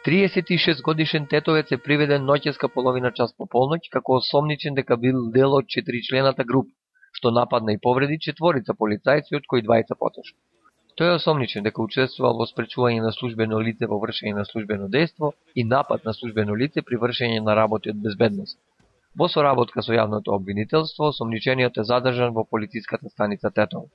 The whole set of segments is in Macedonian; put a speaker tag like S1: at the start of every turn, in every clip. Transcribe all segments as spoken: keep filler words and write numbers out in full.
S1: триесет и шест годишен тетовец е приведен ноќеска половина час по полноќ како осомничен дека бил дел од четиричлената група, што нападна и повреди четворица полицајци, од кои двајца потешко. Тој е осомничен дека учествувал во спречување на службено лице во вршење на службено дејство и напад на службено лице при вршење на работи од безбедност. Во соработка со јавното обвинителство, осомничениот е задржан во полициската станица Тетово.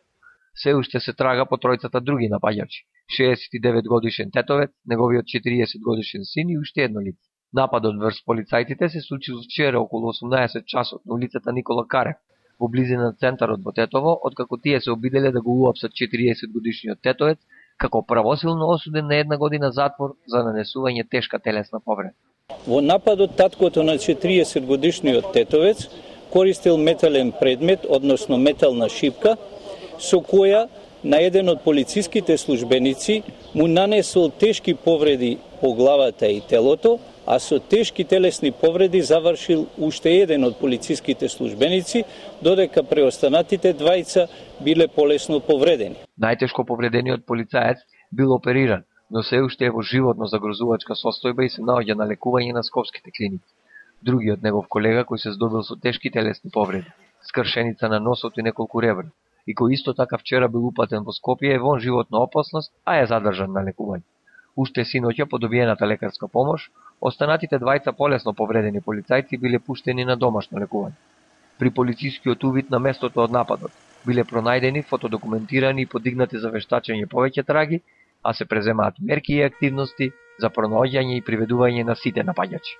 S1: Се уште се трага по тројцата други напаѓачи: шеесет и девет годишен тетовец, неговиот четириесет годишен син и уште едно лице. Нападот врз полицајците се случил вчера околу осумнаесет часот на улицата Никола Карев, во близина на центарот во Тетово, откако тие се обиделе да го уапсат четириесет годишниот тетовец како правосилно осуден на една година затвор за нанесување тешка телесна повреда.
S2: Во нападот таткото на четириесет годишниот тетовец користил метален предмет, односно метална шипка, со која на еден од полициските службеници му нанесол тешки повреди по главата и телото, а со тешки телесни повреди завршил уште еден од полициските службеници, додека преостанатите двајца биле полесно повредени.
S1: Најтешко повредениот полицаец бил опериран, но се уште е во животно загрозувачка состојба и се наоѓа на лекување на скопските клиники. Другиот негов колега кој се здобил со тешки телесни повреди, скршеница на носот и неколку ребра, и кој исто така вчера бил упатен во Скопје, е вон животна опасност, а е задржан на лекување. Уште синоќа по добиената лекарска помош, останатите двајца полесно повредени полицајци биле пуштени на домашно лекување. При полицискиот увид на местото од нападот биле пронајдени, фотодокументирани и подигнати за вештачење повеќе траги, а се преземаат мерки и активности за пронаоѓање и приведување на сите напаѓачи.